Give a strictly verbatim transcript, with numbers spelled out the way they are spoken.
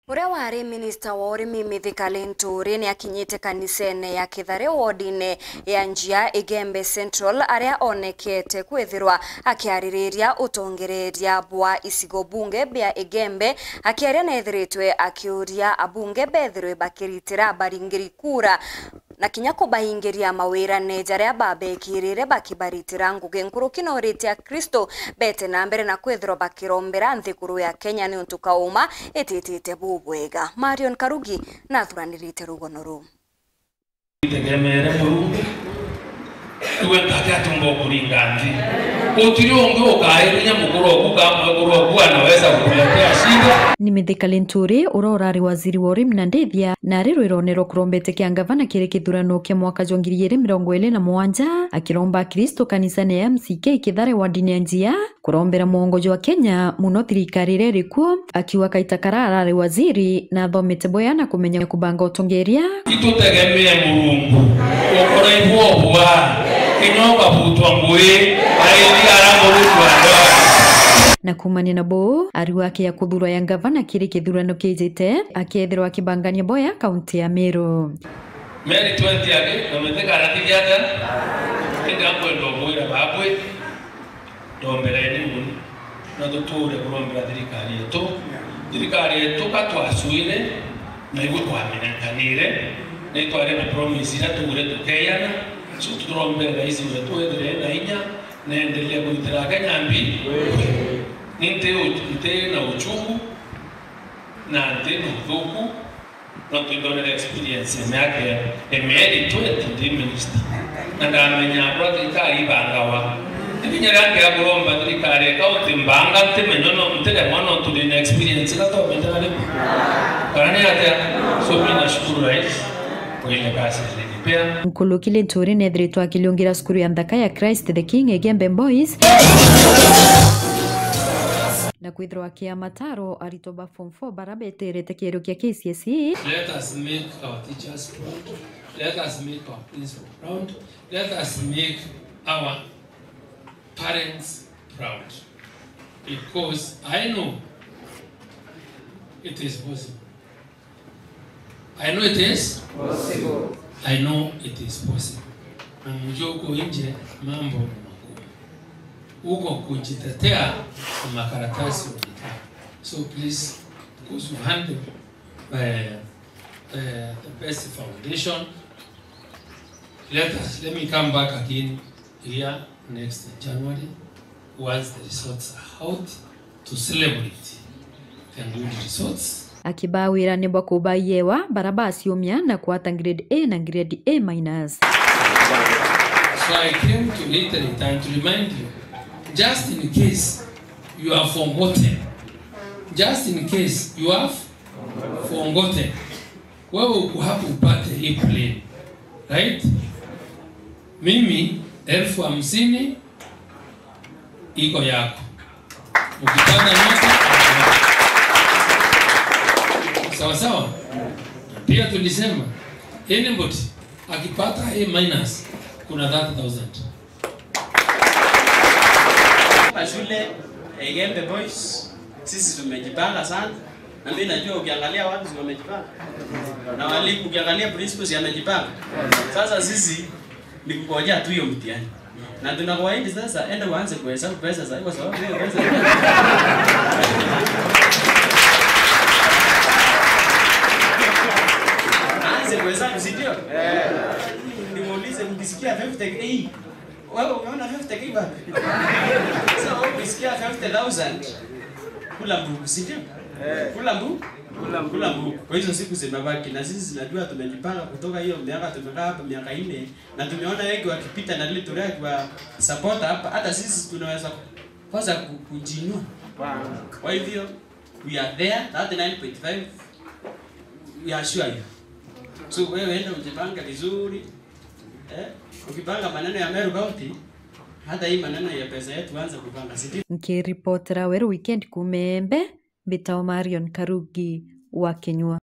Uria wari minista wa urimi Mithika Linturi ni akinyite kanisene ya Kithare wodine ya Njia Igembe Central, aria onekete kwithirwa akiaririria utongereria bwa icigo bunge bia Igembe. Akiaria nethiritwe akiuria abunge bethirwe bakiritira abaringiri kura na kinya kubaingiria mawirane jaria babekirire bakibaritira ngugi nkuruki. Norite Akristo bete na mbere na kwithirwa bakirombera nthiguru ya Kenya niuntu kauma ititite bubwega. Marion Karugi nathuranirite rugono ruu. Itegemere Murungu, iwe ntatia atumba ukuringa nthi. Gutiri ungi ukairinya mukuru oku kana mwekuru oku anaweza kukuletea shida. Ni Mithika Linturi, uria urari waziri wa urimi na ndithia, na ari rwirone rwa kurombete kia ngavana kiri kithurano kia mwaka jwa ngiri igiri mirongo iri na mugwanja, akiromba Akristo kanisani ya M C K Kithare wodine ya Njia, kurombera mwongo jwa Kenya, muno thirikari iria iri kuo, akiuga kaita karia arari waziri na athomete bwega na kumenya kubanga utongeria. Itutegemee Murungu, ukora ibwobwa, kinya ukabutwa ngui, aithia ara Murungu andoa. Na kumania na buu, ariuga aki ya kuthurwa ya ngavana kiri kithurano kijite, akethirwa akibangania bwega kaunti ya Meru. Meri twenty agi, na Mithika aratigia atia? Indi akwenda ubwira babwi. Rombereni mono, na tuture kurombera thirikari yetu. Thirikari yetu ka twacwire, na igwe twamenekanire, na itwari na promise iria tugure tukeyana. So, turombere rais wetu ethire ena inya, na endelee kuritira Akenya mbi. Ni nti u-, nti na uchungu, na nti na uthuku, Nontu indonere experience ya miaka ya, ya mieri twenty ndi minister. Na ndamenya bura thirikari ibangawa. Ibinya riria ngia kuromba thirikari ya county mbanga, ntimenya no, ntiremwa nontu ndina experience, na tomenya na riu. Kana ni atia? So, mi nashukuru rais kwa ile kazi alinipea. Nkuluki Linturi nethiritwe akiliungira cukuru ya nthaka ya Christ the King Igembe Boys. Na kwithirwa akia mataro aritwa ba form four bara beterete kierio kia K C S E. Let us make our teachers proud. Let us make our principal proud. Let us make our parents proud. Because I know it is possible. I know it is possible. I know it is possible. Na mjue huko nje mambo ni magumu. Huko kujitetea na makaratasi unakaa. So please, because you handle, eh, eh, the best foundation. Let us, let me come back again here next January, once the results are out, to celebrate the good results. Akibaa wirane bwa kubaiewa bara baciumia na kwata grade A na grade A minus. So I came to reiterate and to remind you, just in case you have forgotten, just in case you have forgotten, wewe uko hapo upate hii plane, right? Mimi elfu hamsini iko yako. Ukipata nyota, sawa sawa? Pia tulisema, anybody akipata A minus, kuna thirty thousand. Hapa shule ya Igembe Boys, sisi tumejipanga sana. Na mimi najua ukiangalia watu si wamejipanga. Na walimu ukiangalia principals amejipanga. Sasa sisi ni kungojea tu hiyo mtihani. Na tunakuahidi sasa, enda uanze kuhesabu pesa sasa, kwa sababu hiyo pesa. Aanze kuhesabu, si ndio? Nimuulize, mkisikia fifty K, wewe umeona fifty K wapi? So, wewe ukisikia fifty thousand, kula mbuku, si ndio? Kula mbu-, kula mbuku. Kwa hizo siku zimebaki, na sisi tunajua tumejipanga kutoka hiyo miaka tumekaa hapa miaka nne, na tumeona wengi wakipita na lile toleo akiwa support hapa, hata sisi tunaweza kwanza ku-, kujiinua. Kwa hivyo, we are there, thirty-nine point five, we assure you. So, wewe enda ujipange vizuri, eh? Ukipanga maneno ya Meru County, hata hii maneno ya pesa yetu anza kupanga, si ndio? Nkiripotera Weru Weekend kuuma Embe, mbitagwa Marion Karugi wa Kinyua.